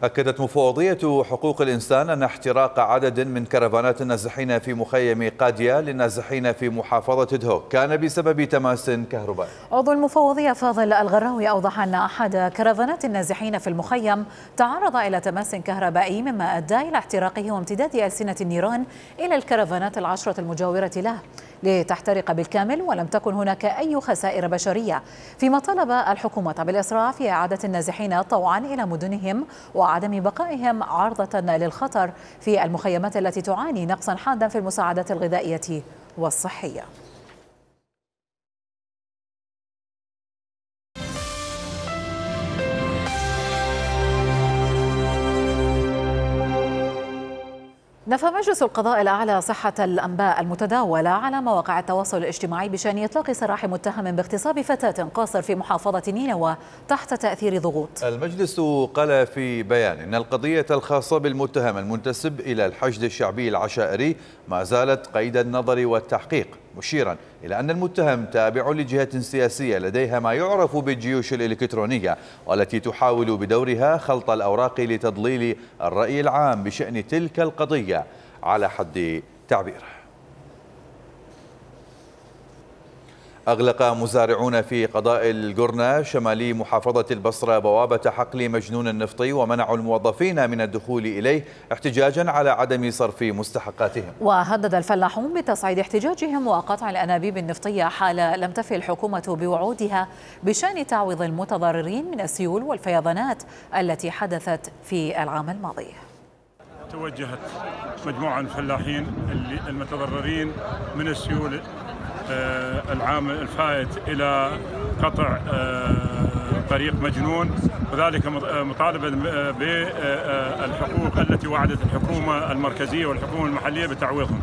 أكدت مفوضية حقوق الإنسان أن احتراق عدد من كرفانات النازحين في مخيم قادية للنازحين في محافظة دهوك كان بسبب تماس كهربائي. عضو المفوضية فاضل الغراوي أوضح أن أحد كرفانات النازحين في المخيم تعرض إلى تماس كهربائي، مما أدى إلى احتراقه وامتداد ألسنة النيران إلى الكرفانات العشرة المجاورة له لتحترق بالكامل، ولم تكن هناك أي خسائر بشرية. فيما طلب الحكومة بالإسراع في إعادة النازحين طوعا إلى مدنهم وعدم بقائهم عرضة للخطر في المخيمات التي تعاني نقصا حادا في المساعدات الغذائية والصحية. نفى مجلس القضاء الأعلى صحة الأنباء المتداولة على مواقع التواصل الاجتماعي بشأن إطلاق سراح متهم باغتصاب فتاة قاصر في محافظة نينوى تحت تأثير ضغوط. المجلس قال في بيان إن القضية الخاصة بالمتهم المنتسب إلى الحشد الشعبي العشائري ما زالت قيد النظر والتحقيق، مشيرا إلى أن المتهم تابع لجهة سياسية لديها ما يعرف بالجيوش الإلكترونية، والتي تحاول بدورها خلط الأوراق لتضليل الرأي العام بشأن تلك القضية على حد تعبيره. أغلق مزارعون في قضاء القرنة شمالي محافظة البصرة بوابة حقل مجنون النفطي ومنعوا الموظفين من الدخول إليه احتجاجا على عدم صرف مستحقاتهم. وهدد الفلاحون بتصعيد احتجاجهم وقطع الأنابيب النفطية حال لم تفي الحكومة بوعودها بشأن تعويض المتضررين من السيول والفيضانات التي حدثت في العام الماضي. توجهت مجموعة من الفلاحين المتضررين من السيول العام الفائت إلى قطع طريق مجنون، وذلك مطالبة بالحقوق التي وعدت الحكومة المركزية والحكومة المحلية بتعويضهم.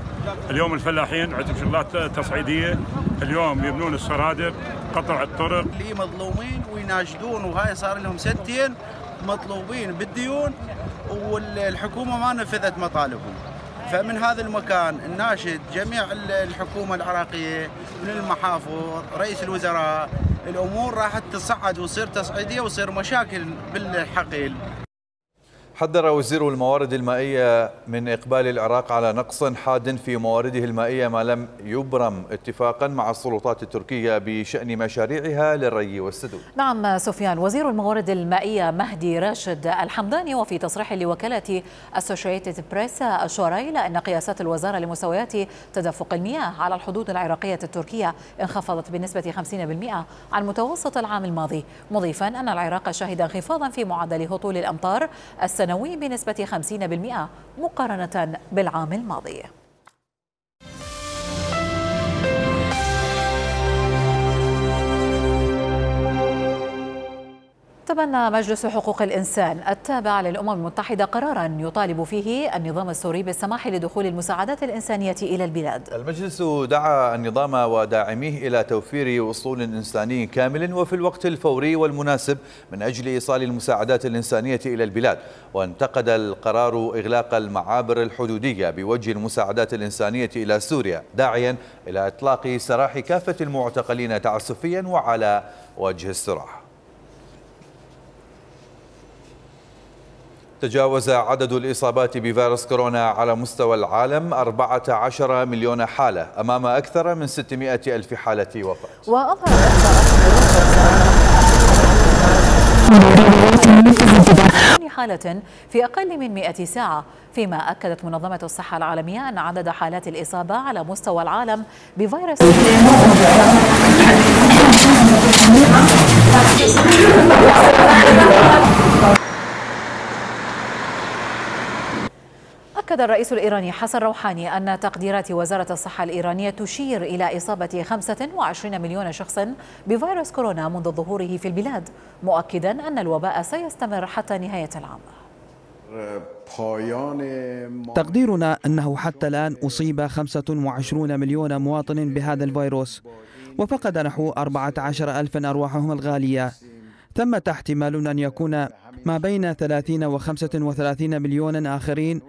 اليوم الفلاحين عندهم شغلات تصعيدية، اليوم يبنون السرادق، قطع الطرق. اللي مظلومين ويناشدون، وهاي صار لهم سنتين مطلوبين بالديون والحكومة ما نفذت مطالبهم. فمن هذا المكان نناشد جميع الحكومة العراقية من المحافظ، رئيس الوزراء، الأمور راح تصعد وتصير تصعيدية وتصير مشاكل بالحقيل. حذر وزير الموارد المائية من إقبال العراق على نقص حاد في موارده المائية ما لم يبرم اتفاقا مع السلطات التركية بشأن مشاريعها للري والسدود. نعم سفيان، وزير الموارد المائية مهدي راشد الحمداني وفي تصريح لوكالة أسوشيتد بريس أشار إلى أن قياسات الوزارة لمستويات تدفق المياه على الحدود العراقية التركية انخفضت بنسبة خمسين بالمئة عن متوسط العام الماضي، مضيفا أن العراق شهد انخفاضا في معدل هطول الأمطار السنوي بنسبة خمسين بالمئة مقارنة بالعام الماضي. تبنى مجلس حقوق الإنسان التابع للأمم المتحدة قراراً يطالب فيه النظام السوري بالسماح لدخول المساعدات الإنسانية إلى البلاد. المجلس دعا النظام وداعميه إلى توفير وصول إنساني كامل وفي الوقت الفوري والمناسب من أجل إيصال المساعدات الإنسانية إلى البلاد، وانتقد القرار إغلاق المعابر الحدودية بوجه المساعدات الإنسانية إلى سوريا، داعياً إلى إطلاق سراح كافة المعتقلين تعسفياً وعلى وجه السراح. تجاوز عدد الإصابات بفيروس كورونا على مستوى العالم أربعة عشر مليون حالة أمام أكثر من ستمائة ألف حالة وفاة. وأظهرت حالة في أقل من مئة ساعة، فيما أكدت منظمة الصحة العالمية أن عدد حالات الإصابة على مستوى العالم بفيروس أكد الرئيس الإيراني حسن روحاني أن تقديرات وزارة الصحة الإيرانية تشير إلى إصابة خمسة وعشرين مليون شخص بفيروس كورونا منذ ظهوره في البلاد، مؤكدا أن الوباء سيستمر حتى نهاية العام. تقديرنا أنه حتى الآن أصيب خمسة وعشرين مليون مواطن بهذا الفيروس، وفقد نحو أربعة عشر ألفا أرواحهم الغالية. ثمة احتمال أن يكون ما بين ثلاثين وخمسة وثلاثين مليون آخرين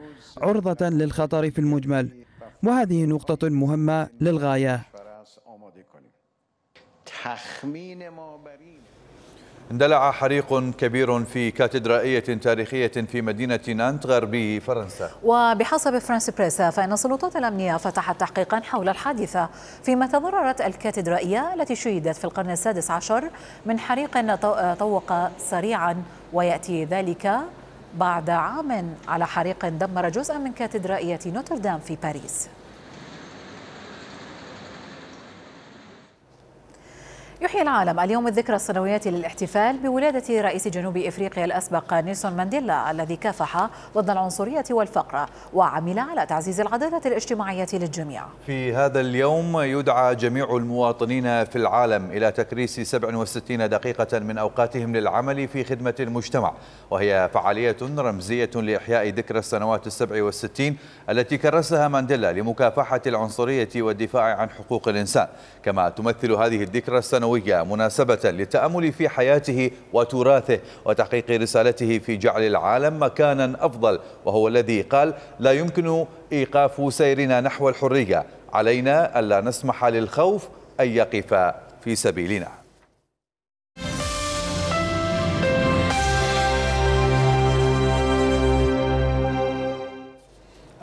عرضة للخطر في المجمل، وهذه نقطة مهمة للغاية. اندلع حريق كبير في كاتدرائية تاريخية في مدينة نانت غربي فرنسا. وبحسب فرانس بريس فإن السلطات الأمنية فتحت تحقيقا حول الحادثة، فيما تضررت الكاتدرائية التي شيدت في القرن السادس عشر من حريق طوق سريعا، ويأتي ذلك بعد عام على حريق دمر جزءا من كاتدرائية نوتردام في باريس. يحيي العالم اليوم الذكرى السنوية للاحتفال بولادة رئيس جنوب إفريقيا الأسبق نيلسون مانديلا الذي كافح ضد العنصرية والفقر وعمل على تعزيز العدالة الاجتماعية للجميع. في هذا اليوم يدعى جميع المواطنين في العالم إلى تكريس سبع وستين دقيقة من أوقاتهم للعمل في خدمة المجتمع، وهي فعالية رمزية لإحياء ذكرى السنوات السبع والستين التي كرسها مانديلا لمكافحة العنصرية والدفاع عن حقوق الإنسان. كما تمثل هذه الذكرى السنوية مناسبة للتأمل في حياته وتراثه وتحقيق رسالته في جعل العالم مكانا أفضل، وهو الذي قال: لا يمكن إيقاف سيرنا نحو الحرية، علينا ألا نسمح للخوف أن يقف في سبيلنا.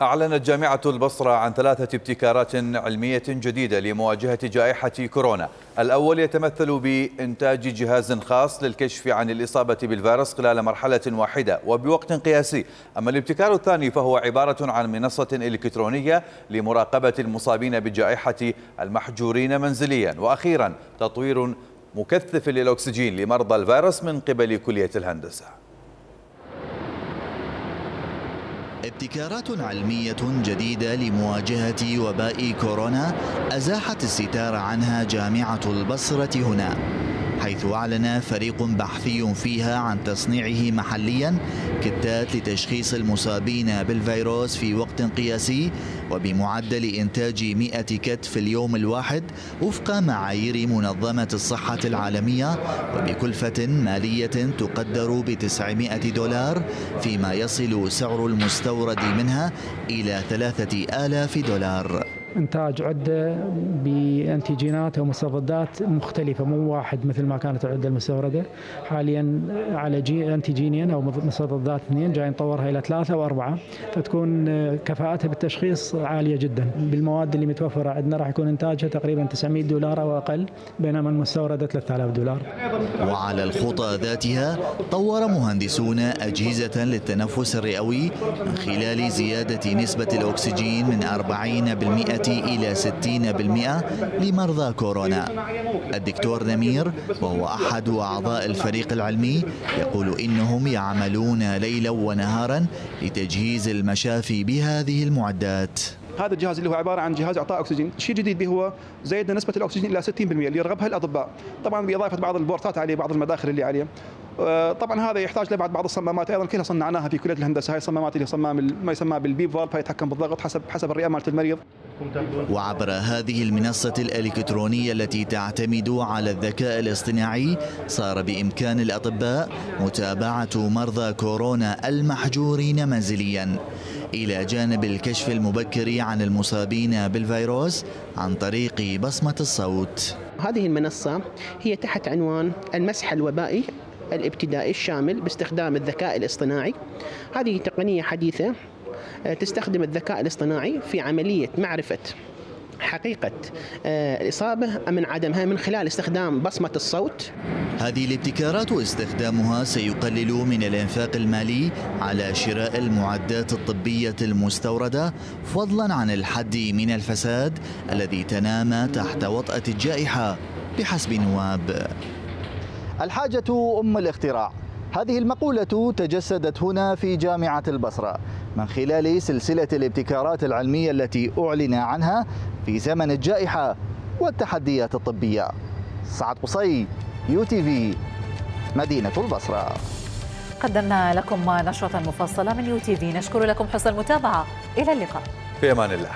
أعلنت جامعة البصرة عن ثلاثة ابتكارات علمية جديدة لمواجهة جائحة كورونا. الأول يتمثل بإنتاج جهاز خاص للكشف عن الإصابة بالفيروس خلال مرحلة واحدة وبوقت قياسي. أما الابتكار الثاني فهو عبارة عن منصة إلكترونية لمراقبة المصابين بجائحة المحجورين منزليا. وأخيرا تطوير مكثف للأكسجين لمرضى الفيروس من قبل كلية الهندسة. ابتكارات علمية جديدة لمواجهة وباء كورونا أزاحت الستار عنها جامعة البصرة هنا، حيث أعلن فريق بحثي فيها عن تصنيعه محليا كتات لتشخيص المصابين بالفيروس في وقت قياسي وبمعدل إنتاج مئة كت في اليوم الواحد وفق معايير منظمة الصحة العالمية، وبكلفة مالية تقدر بتسعمئة دولار، فيما يصل سعر المستورد منها إلى ثلاثة آلاف دولار. إنتاج عدة بأنتيجينات ومستضدات مختلفة، مو واحد مثل ما كانت العدة المستوردة. حاليا على جي أنتيجينين أو مستضدات اثنين، جاي نطورها إلى ثلاثة وأربعة، فتكون كفاءتها بالتشخيص عالية جدا. بالمواد اللي متوفرة عندنا راح يكون إنتاجها تقريبا تسعمئة دولار أو أقل، بينما المستوردة ثلاثة آلاف دولار. وعلى الخطى ذاتها طور مهندسون أجهزة للتنفس الرئوي من خلال زيادة نسبة الأكسجين من أربعين بالمئة إلى ستين بالمئة لمرضى كورونا. الدكتور نمير وهو أحد أعضاء الفريق العلمي يقول إنهم يعملون ليلا ونهارا لتجهيز المشافي بهذه المعدات. هذا الجهاز اللي هو عباره عن جهاز اعطاء اكسجين، الشيء الجديد به هو زيدنا نسبه الاكسجين الى ستين بالمئة اللي يرغبها الاطباء، طبعا باضافه بعض البورتات عليه، بعض المداخل اللي عليه. طبعا هذا يحتاج لبعض بعض الصمامات ايضا كلها صنعناها في كليه الهندسه. هاي الصمامات اللي صمام ما يسمى بالبيب فالف، يتحكم بالضغط حسب حسب الرئه مالت المريض. وعبر هذه المنصة الإلكترونية التي تعتمد على الذكاء الاصطناعي صار بإمكان الأطباء متابعة مرضى كورونا المحجورين منزليا، إلى جانب الكشف المبكر عن المصابين بالفيروس عن طريق بصمة الصوت. هذه المنصة هي تحت عنوان المسح الوبائي الابتدائي الشامل باستخدام الذكاء الاصطناعي. هذه تقنية حديثة تستخدم الذكاء الاصطناعي في عملية معرفة حقيقة الإصابة من عدمها من خلال استخدام بصمة الصوت. هذه الابتكارات واستخدامها سيقلل من الإنفاق المالي على شراء المعدات الطبية المستوردة، فضلا عن الحد من الفساد الذي تنام تحت وطأة الجائحة بحسب نواب. الحاجة أم الاختراع، هذه المقولة تجسدت هنا في جامعة البصرة من خلال سلسلة الابتكارات العلمية التي أعلن عنها في زمن الجائحة والتحديات الطبية. سعد قصي، يو تي في، مدينة البصرة. قدمنا لكم نشرة مفصلة من يو تي في، نشكر لكم حسن المتابعة، إلى اللقاء. في أمان الله.